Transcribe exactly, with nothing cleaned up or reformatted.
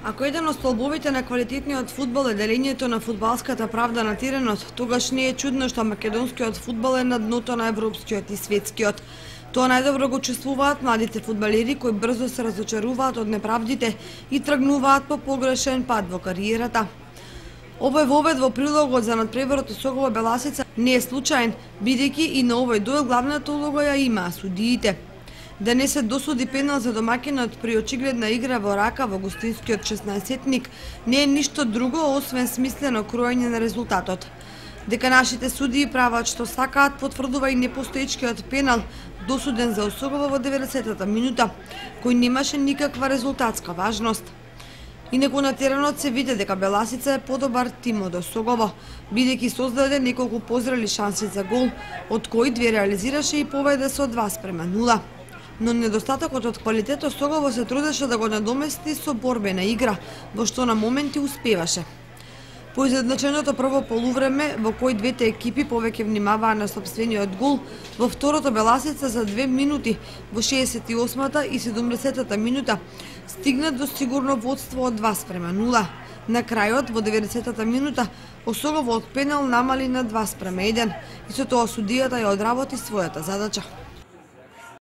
Ако еден од столбовите на квалитетниот фудбал е делењето на фудбалската правда на теренот, тогаш не е чудно што македонскиот фудбал е на дното на европскиот и светскиот. Тоа најдобро го чувствуваат младите фудбалери кои брзо се разочаруваат од неправдите и тргнуваат по погрешен пат во кариерата. Овој вовед во прилогот за надпреварот Сокова Беласица не е случаен, бидејќи и на овој дуел главната улога ја имаа судиите. Да не се досуди пенал за домакинот при очигледна игра во рака во гостинскиот шеснаесетник не е ништо друго освен смислено кроење на резултатот. Дека нашите судии прават што сакаат потврдува и непостоечкиот пенал досуден за Осогова во деветдесетата минута, кој немаше никаква резултатска важност. Инаку на теренот се види дека Беласица е подобар тим од Осогово, бидејќи создаде неколку позрели шанси за гол, од кои две реализираше и победа со два спрема нула. Но недостатокот од квалитет Осогово се трудеше да го надомести со борбена игра, во што на моменти успеваше. По изедначеното прво полувреме, во кој двете екипи повеќе внимаваа на сопствениот гол, во второто Беласица за две минути, во шеесет и осмата и седумдесетата минута, стигна до сигурно водство од два спрема нула. На крајот, во деветдесетата минута, Осогово од пенал намали на два спрема еден и со тоа судијата ја одработи својата задача.